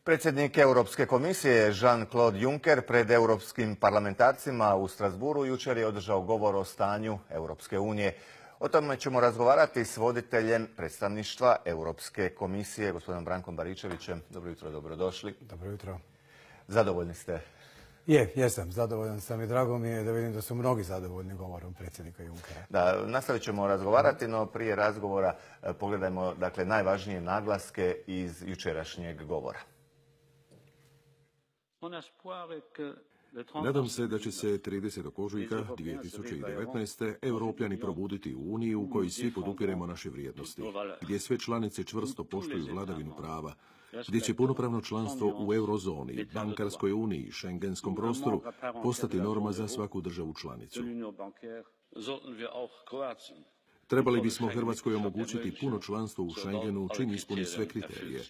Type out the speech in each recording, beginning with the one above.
Predsjednik Europske komisije Jean-Claude Juncker pred europskim parlamentarcima u Strasbourgu jučer je održao govor o stanju Europske unije. O tome ćemo razgovarati s voditeljem predstavništva Europske komisije, gospodinom Brankom Baričevićem. Dobro jutro, dobrodošli. Dobro jutro. Zadovoljni ste? Jesam, zadovoljan sam i drago mi je da vidim da su mnogi zadovoljni govorom predsjednika Junckera. Da, nastavit ćemo razgovarati, no prije razgovora pogledajmo najvažnije naglaske iz jučerašnjeg govora. Nadam se da će se 30. ožujka 2019. Europljani probuditi u Uniji u kojoj svi podupiremo naše vrijednosti, gdje sve članice čvrsto poštuju vladavinu prava, gdje će punopravno članstvo u eurozoni, bankarskoj uniji i šengenskom prostoru postati norma za svaku državu članicu. Trebali bismo Hrvatskoj omogućiti puno članstvo u Schengenu čim ispuni sve kriterije.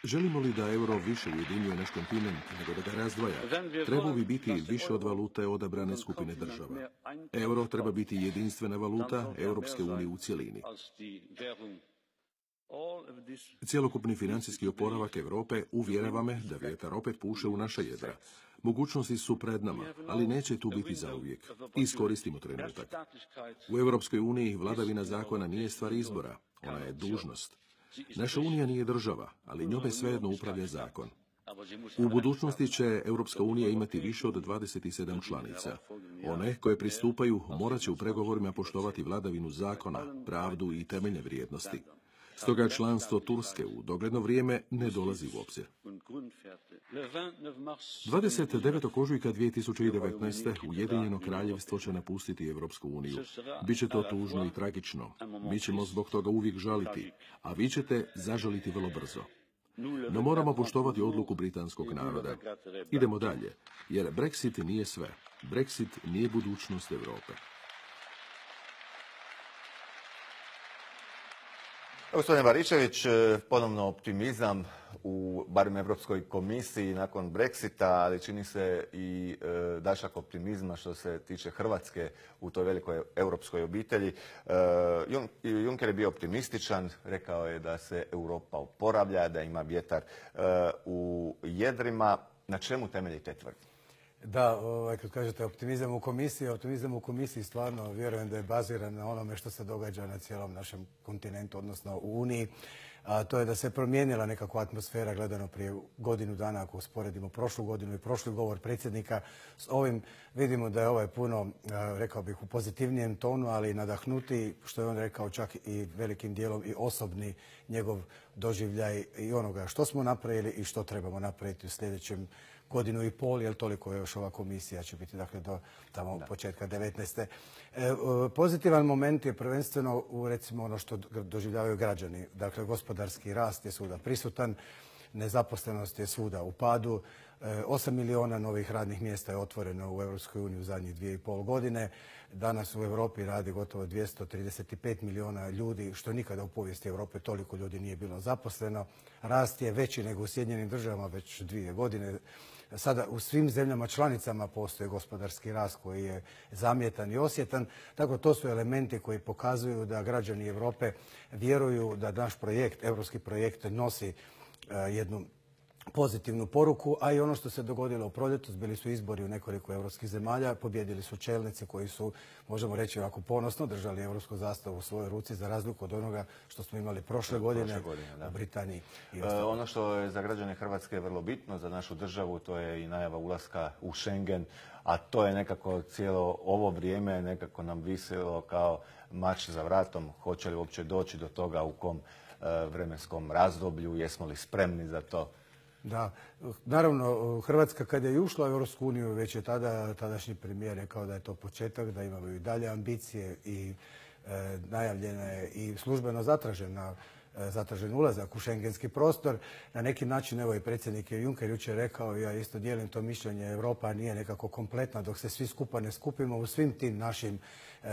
Želimo li da euro više ujedinjuje naš kontinent nego da ga razdvaja, trebao bi biti više od valute odabrane skupine država. Euro treba biti jedinstvena valuta Europske unije u cjelini. Cjelokupni financijski oporavak Europe uvjerava me da vjetar opet puše u naša jedra. Mogućnosti su pred nama, ali neće tu biti zauvijek. Iskoristimo trenutak. U Europskoj uniji vladavina zakona nije stvar izbora, ona je dužnost. Naša unija nije država, ali njome svejedno upravlja zakon. U budućnosti će Europska unija imati više od 27 članica. One koje pristupaju morat će u pregovorima poštovati vladavinu zakona, pravdu i temeljne vrijednosti. Stoga članstvo Turske u dogledno vrijeme ne dolazi u obzir. 29. ožujka 2019. Ujedinjeno kraljevstvo će napustiti Europsku uniju. Biće to tužno i tragično. Mi ćemo zbog toga uvijek žaliti, a vi ćete zažaliti vrlo brzo. No moramo poštovati odluku britanskog naroda. Idemo dalje, jer Brexit nije sve. Brexit nije budućnost Europe. Gospodine Baričević, ponovno optimizam u barem Europskoj komisiji nakon Brexita, ali čini se i dašak optimizma što se tiče Hrvatske u toj velikoj europskoj obitelji. Juncker je bio optimističan, rekao je da se Europa oporavlja, da ima vjetar u jedrima. Na čemu temelji te tvrdnje? Da, kad kažete optimizam u komisiji stvarno vjerujem da je baziran na onome što se događa na cijelom našem kontinentu, odnosno u Uniji. A to je da se promijenila nekakva atmosfera gledano prije godinu dana, ako usporedimo prošlu godinu i prošli govor predsjednika. S ovim vidimo da je ovaj puno, rekao bih, u pozitivnijem tonu, ali nadahnutiji, što je on rekao čak i velikim dijelom i osobni njegov doživljaj i onoga što smo napravili i što trebamo napraviti u sljedećem godinu i pol, jer toliko još ova komisija će biti, dakle, do tamo početka 19. Pozitivan moment je prvenstveno recimo ono što doživljavaju građani. Dakle, gospodarski rast je svuda prisutan, nezaposlenost je svuda u padu, 8 miliona novih radnih mjesta je otvoreno u Europskoj uniji u zadnjih 2,5 godine. Danas u Europi radi gotovo 235 miliona ljudi, što nikada u povijesti Europe toliko ljudi nije bilo zaposleno. Rast je veći nego u Sjedinjenim državama već 2 godine. Sada u svim zemljama članicama postoji gospodarski rast koji je zamjetan i osjetan. Tako to su elementi koji pokazuju da građani Europe vjeruju da naš projekt, europski projekt, nosi jednu pozitivnu poruku, a i ono što se dogodilo u proljetu, bili su izbori u nekoliko europskih zemalja, pobjedili su čelnici koji su, možemo reći ovako ponosno, držali europsku zastavu u svojoj ruci za razliku od onoga što smo imali prošle godine u Britaniji. Ono što je za građane Hrvatske vrlo bitno, za našu državu, to je i najava ulaska u Schengen, a to je nekako cijelo ovo vrijeme nekako nam visilo kao mač za vratom. Hoće li uopće doći do toga, u kom vremenskom razdoblju, jesmo li spremni za to? Da, naravno, Hrvatska kad je ušla u Europsku uniju, već je tadašnji premijer rekao da je to početak, da imamo i dalje ambicije i najavljena je i službeno zatražen ulazak u šengenski prostor. Na neki način, evo i predsjednik Juncker jučer rekao, ja isto dijelim to mišljenje, Europa nije nekako kompletna dok se svi skupa ne skupimo u svim tim našim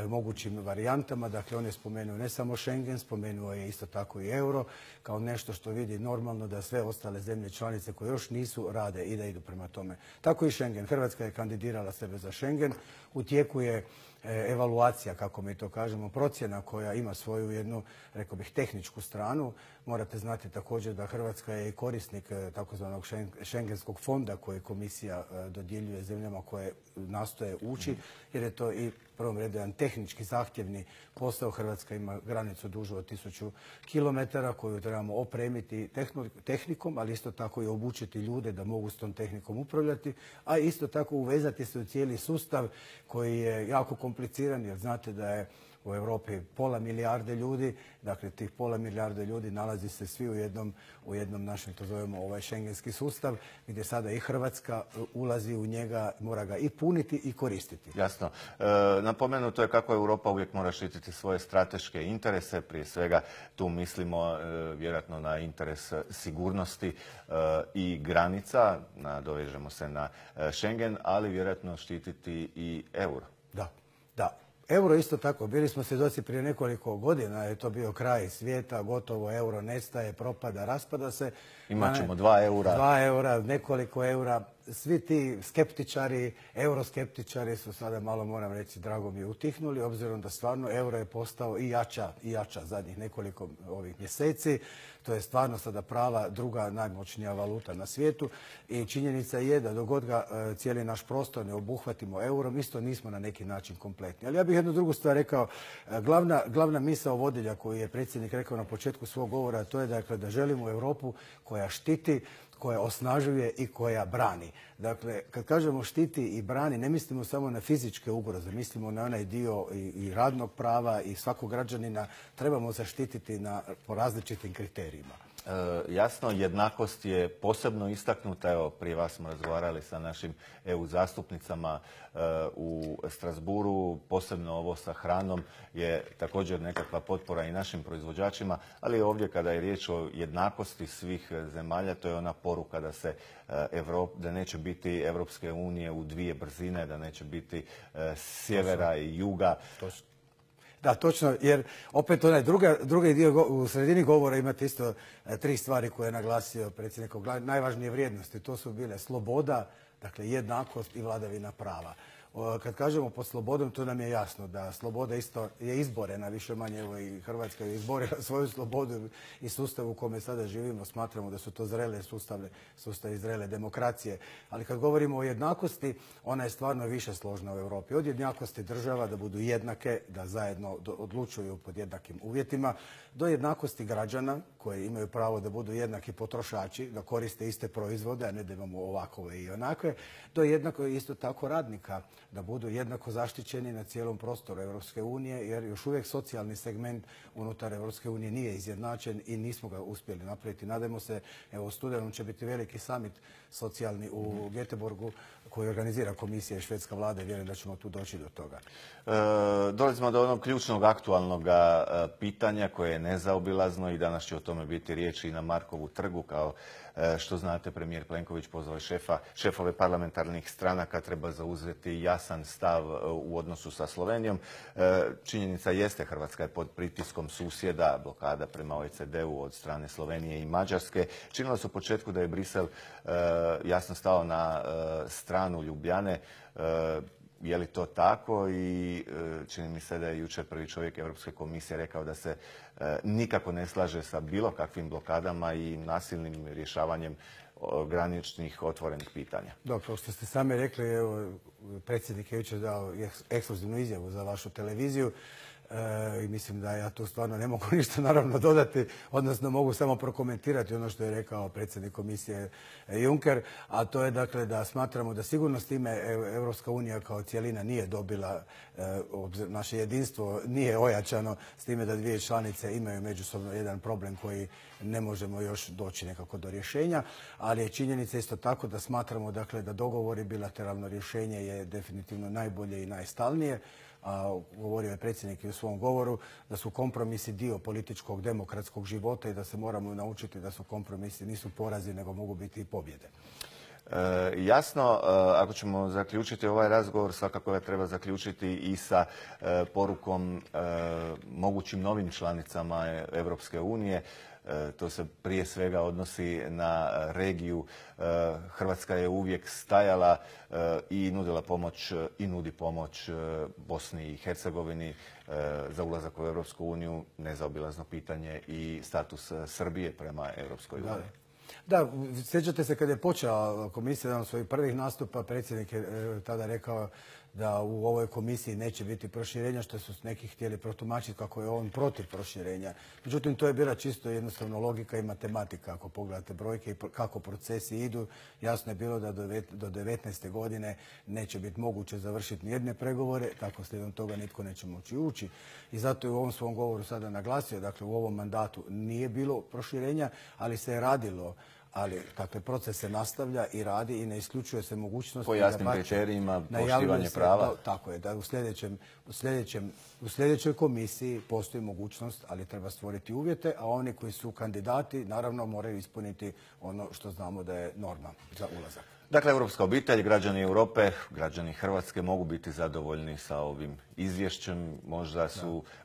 mogućim varijantama. Dakle, on je spomenuo ne samo Schengen, spomenuo je isto tako i euro kao nešto što vidi normalno da sve ostale zemlje članice koje još nisu rade i da idu prema tome. Tako i Schengen. Hrvatska je kandidirala sebe za Schengen. U tijeku je evaluacija, kako mi to kažemo, procjena koja ima svoju jednu, rekao bih, tehničku stranu, Morate znati također da Hrvatska je i korisnik takozvanog Schengenskog fonda koji komisija dodjeljuje zemljama koje nastoje ući, jer je to i prvom redu jedan tehnički zahtjevni posao. Hrvatska ima granicu dužu od 1000 km koju trebamo opremiti tehnikom, ali isto tako i obučiti ljude da mogu s tom tehnikom upravljati, a isto tako uvezati se u cijeli sustav koji je jako kompliciran, jer znate da je u Europi pola milijarde ljudi, dakle tih pola milijarde ljudi nalazi se svi u jednom našem, to zovemo ovaj šengenski sustav, gdje sada i Hrvatska ulazi u njega, mora ga i puniti i koristiti. Jasno. Napomenuto je kako Europa uvijek mora štititi svoje strateške interese, prije svega tu mislimo vjerojatno na interes sigurnosti i granica, nadovežemo se na Schengen, ali vjerojatno štititi i euro. Da. Euro isto tako, bili smo svjedoci prije nekoliko godina, je to bio kraj svijeta, gotovo euro nestaje, propada, raspada se. Imaćemo 2 eura. 2 eura, nekoliko eura. Svi ti skeptičari, euroskeptičari su sada malo, moram reći, drago mi utihnuli, obzirom da stvarno euro je postao i jača zadnjih nekoliko ovih mjeseci. To je stvarno sada prava druga najmoćnija valuta na svijetu i činjenica je da dok god ga cijeli naš prostor ne obuhvatimo eurom, isto nismo na neki način kompletni. Ali ja bih jednu drugu stvar rekao. Glavna misao vodilja koju je predsjednik rekao na početku svog govora, to je dakle da želimo Europu koja štiti, koja osnažuje i koja brani. Dakle, kad kažemo štiti i brani, ne mislimo samo na fizičke ugroze, mislimo na onaj dio i radnog prava i svakog građanina trebamo zaštititi po različitim kriterijima. Jasno, jednakost je posebno istaknuta. Evo, prije vas smo razgovarali sa našim EU zastupnicama u Strasbourgu. Posebno ovo sa hranom je također nekakva potpora i našim proizvođačima, ali ovdje kada je riječ o jednakosti svih zemalja, to je ona poruka da neće biti Europske unije u dvije brzine, da neće biti sjevera i juga. Da, točno, jer opet onaj drugi dio u sredini govora imate isto 3 stvari koje je naglasio predsjednikov, najvažnije vrijednosti. To su bile sloboda, dakle jednakost i vladavina prava. Kad kažemo pod slobodom, to nam je jasno da sloboda isto je izborena, više manje, evo i Hrvatska je izborila svoju slobodu i sustav u kome sada živimo. Smatramo da su to zrele sustavi zrele demokracije. Ali kad govorimo o jednakosti, ona je stvarno više složna u Europi. Od jednakosti država da budu jednake, da zajedno odlučuju pod jednakim uvjetima, do jednakosti građana koji imaju pravo da budu jednaki potrošači, da koriste iste proizvode, a ne da imamo ovakove i onakve, do jednako isto tako radnika, da budu jednako zaštićeni na cijelom prostoru Europske unije, jer još uvijek socijalni segment unutar Europske unije nije izjednačen i nismo ga uspjeli napraviti. Nadajmo se, evo u studenom će biti veliki summit socijalni u Göteborgu koji organizira komisija i švedska vlada i vjerujem da ćemo tu doći do toga. Dolazimo do onog ključnog aktualnog pitanja koje je nezaobilazno i danas će o tome biti riječi i na Markovu trgu. Kao što znate, premijer Plenković pozvao šefove parlamentarnih stranaka, treba zauzeti jasan stav u odnosu sa Slovenijom. Činjenica jeste, Hrvatska je pod pritiskom susjeda, blokada prema OECD-u od strane Slovenije i Mađarske. Činilo se u početku da je Brisel jasno stao na stranu Ljubljane. Je li to tako? I čini mi se da je jučer prvi čovjek Europske komisije rekao da se nikako ne slaže sa bilo kakvim blokadama i nasilnim rješavanjem graničnih otvorenih pitanja. Da, kao što ste sami rekli, evo, predsjednik je jučer dao ekskluzivnu izjavu za vašu televiziju. I mislim da ja tu stvarno ne mogu ništa naravno dodati, odnosno mogu samo prokomentirati ono što je rekao predsjednik komisije Juncker, a to je dakle da smatramo da sigurno s time Europska unija kao cjelina nije dobila, naše jedinstvo nije ojačano s time da dvije članice imaju međusobno jedan problem koji ne možemo još doći nekako do rješenja, ali je činjenica isto tako da smatramo dakle da dogovor i bilateralno rješenje je definitivno najbolje i najstalnije. A govorio je predsjednik i u svom govoru da su kompromisi dio političkog demokratskog života i da se moramo naučiti da su kompromisi nisu porazi nego mogu biti i pobjede. Jasno, ako ćemo zaključiti ovaj razgovor, svakako ga treba zaključiti i sa porukom mogućim novim članicama Europske unije. To se prije svega odnosi na regiju. Hrvatska je uvijek stajala i nudila pomoć i nudi pomoć Bosni i Hercegovini za ulazak u Europsku uniju, nezaobilazno pitanje i status Srbije prema Europskoj uniji. Da, sjećate se kad je počela komisija, jedan od svojih prvih nastupa, predsjednik je tada rekao da u ovoj komisiji neće biti proširenja, što su neki htjeli protumačiti kako je on protiv proširenja. Međutim, to je bila čisto jednostavno logika i matematika. Ako pogledate brojke i kako procesi idu, jasno je bilo da do 19. godine neće biti moguće završiti nijedne pregovore, tako slijedom toga nitko neće moći ući. I zato je u ovom svom govoru sada naglasio, dakle u ovom mandatu nije bilo proširenja, ali se je radilo. Ali, dakle, proces se nastavlja i radi i ne isključuje se mogućnost... Po jasnim kriterijima, poštivanje prava. Tako je, da u sljedećoj komisiji postoji mogućnost, ali treba stvoriti uvjete, a oni koji su kandidati, naravno, moraju ispuniti ono što znamo da je norma za ulazak. Dakle, europska obitelj, građani Europe, građani Hrvatske mogu biti zadovoljni sa ovim izvješćem.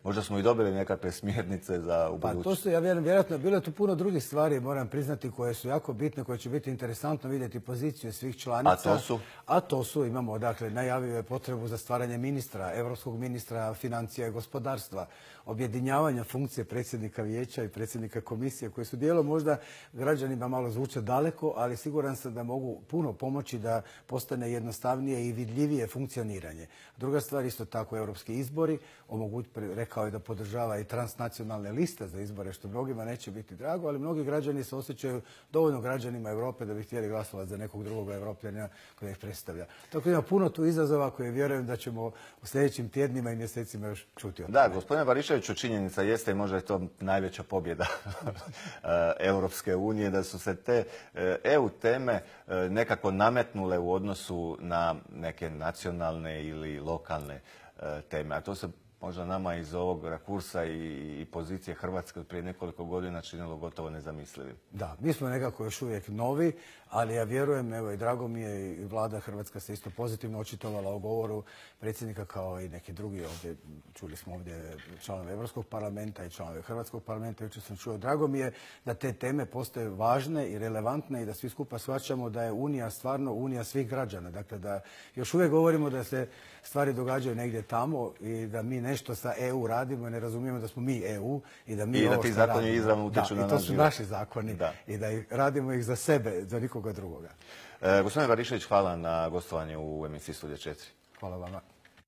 Možda smo i dobili nekakve smjernice za ubuduće. Pa to su, ja vjerujem, vjerojatno bilo je tu puno drugih stvari, moram priznati, koje su jako bitne, koje će biti interesantno vidjeti poziciju svih članica. A to su, imamo, dakle, najavio je potrebu za stvaranje ministra, europskog ministra financija i gospodarstva, objedinjavanja funkcije predsjednika vijeća i predsjednika komisije, koji su dijelom možda građanima malo zvuče daleko, ali siguran sam da mogu puno pomoći da postane jednostavnije i vidljivije funkcioniranje. Druga stvar, isto tako, europski izbori. Rekao je da podržava i transnacionalne liste za izbore, što mnogima neće biti drago, ali mnogi građani se osjećaju dovoljno građanima Europe da bi htjeli glasovati za nekog drugog Europljana koji ih predstavlja. Tako ima puno tu izazova koje vjerujem da ćemo u sljedećim tjednima i mjesecima još čuti. Da, gospodine Bariševiću, činjenica jeste i možda je to najveća pobjeda Europske unije, da su se te EU teme nekako nametnule u odnosu na neke nacionalne ili lokalne teme. A to se možda nama iz ovog rakursa i pozicije Hrvatske od prije nekoliko godina činilo gotovo nezamislivim. Da, mi smo nekako još uvijek novi, ali ja vjerujem, evo i drago mi je, i vlada Hrvatska se isto pozitivno očitovala o govoru predsjednika kao i neki drugi ovdje. Čuli smo ovdje članove Europskog parlamenta i članove Hrvatskog parlamenta. Jučer sam čuo, drago mi je da te teme postaju važne i relevantne i da svi skupa shvaćamo da je Unija stvarno Unija svih građana. Dakle, da još uvijek govorimo da se stvari događaju negdje tamo i da mi nešto sa EU radimo i ne razumijemo da smo mi EU i da mi i da ti zakoni izravno utječu na naš život. I to su naši zakoni i da radimo ih za sebe, za nikoga drugoga. Gospodine Barišević, hvala na gostovanju u emisiji Studija 4. Hvala vama.